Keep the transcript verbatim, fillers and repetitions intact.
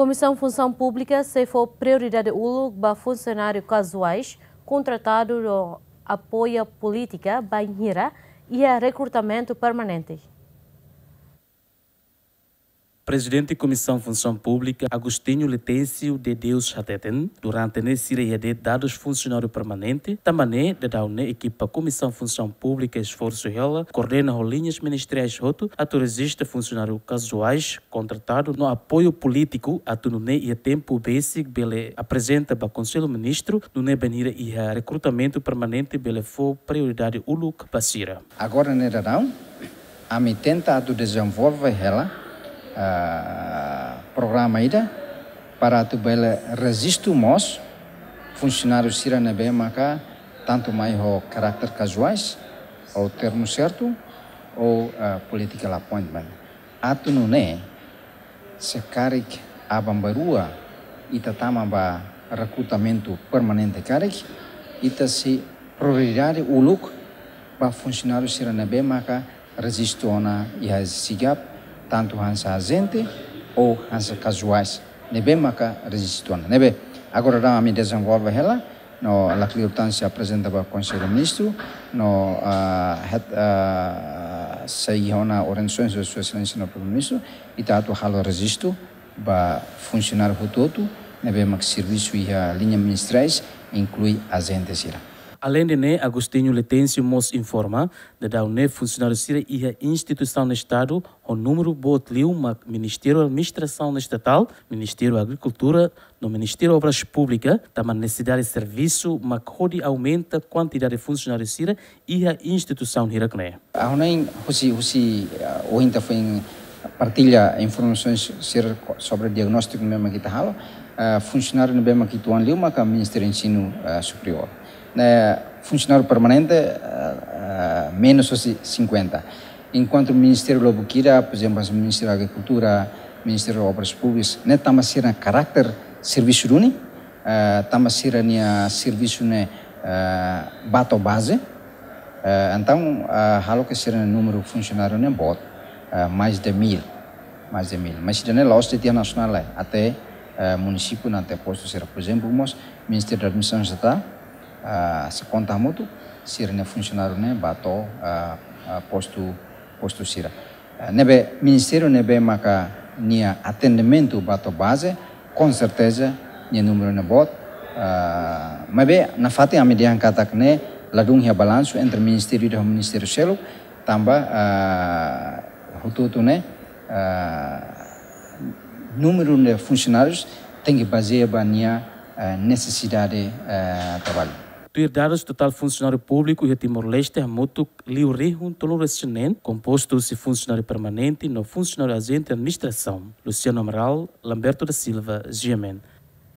Komisaun Funsaun Públika sei fó prioridade uluk ba funsionáriu kazuais kontratadu no apoia polítika bainhira iha rekrutamentu permanente. Prezidente Komisaun Funsaun Públika, Agostinho Letêncio de Deus hateten, durante ne'e sira iha de'it dadus funsionáriu permanente, tanba ne'e daudaun ne'e ekipa Komisaun Funsaun Públika esforsu hela, koordena ho liñas ministeriais hotu, atu rejista funsionáriu kazuais kontratadu no apoiu polítiku, atu nune'e iha tempu besik bele aprezenta ba Konsellu Ministru, nune'e bainhira iha rekrutamentu permanente bele fó prioridade uluk ba sira. Agora ne'e daudaun, ami tenta atu dezenvolve hela, ah, programa ida para atu bele rejistu mós funsionáriu sira ne'ebé maka tantu mai ho karáter kazuais, ou termu sertu, ou, ah, political appointment. Atu nune'e, se karik aban-bainrua ita tama ba rekrutamentu permanente karik, ita sei prioridade uluk ba funsionáriu sira ne'ebé maka rejistu ona iha SIGAP, tantu hanesan ajente ou hanesan kazuais ne'ebé maka rejistu ona. Ne'ebé, agora daudaun ami dezenvolve hela, no lakleur tan sei aprezenta ba Konsellu Ministru, no, ah, het, ah, sei iha ona orientasaun husi Sua Exelénsia no Primeiru-Ministru, ita atu halo rejistu ba funsionáriu hotu-hotu ne'ebé mak servisu iha liña ministeriais, inklui ajente sira. Aleinde ne'e, Agostinho Letêncio mós informa, daudaun ne'e funsionáriu sira iha instituisaun Estadu ho númeru boot liu mak Ministériu Administrasaun Estatál, Ministériu Agrikultura, no Ministériu Obras Públikas, tanba nesesidade servisu mak hodi aumenta kuantidade funsionáriu sira iha instituisaun hirak ne'e. Ha'u hanoin husi, husi, ah, ohin ita foin partilla informasaun sira ko-, sobre diagnóstiku ne'ebé mak ita halo, ah, funsionáriu ne'ebé mak uitoan liu maka Ministériu Ensinu, ah, Superiór. Ne'e funsionáriu permanente, ah, ah, menus husi sinkuenta. Enkuantu ministériu lubuk ida, por ezemplu, Ministériu Agrikultura, Ministériu Obras Públikas, ne'e tanba sira karáter servisu duni, eh, tanba sira-nia servisu ne'e, eh, ba to'o baze. Eh, entaun, eh, halo ke sira-nia númeru funsionáriu ne'e boot, eh, mais de mil, mais de mil. Mas ida-ne'e la'ós de'it iha nasionál, eh, até, eh, munisípiu no até postu sira. Por ezemplu, mós Ministériu Administrasaun Estatál, eh, se konta hamutuk, sira-nia funsionáriu ne'e ba to'o, eh, eh, postu, postu sira. Eh, ne'ebé ministériu ne'ebé maka nia atendimentu ba to'o baze, com certeza, nia númeru ne'e boot. Ah, maibé nafatin ami dehan katak ne'e ladún iha balansu entre ministériu ida ho ministériu seluk, tanba, ah, hotu-hotu ne'e, ah, númeru de funsionárius tenke bazeia ba nia, ah, nesesidade, ah, traballu. Tuir dadus, totál funsionáriu públiku iha Timor-Leste hamutuk liu rihun tolunulu-resin-neen, kompostu husi funsionáriu permanente no funsionáriu ajente administrasaun. Luciano Amaral, Lamberto da Silva, G M N.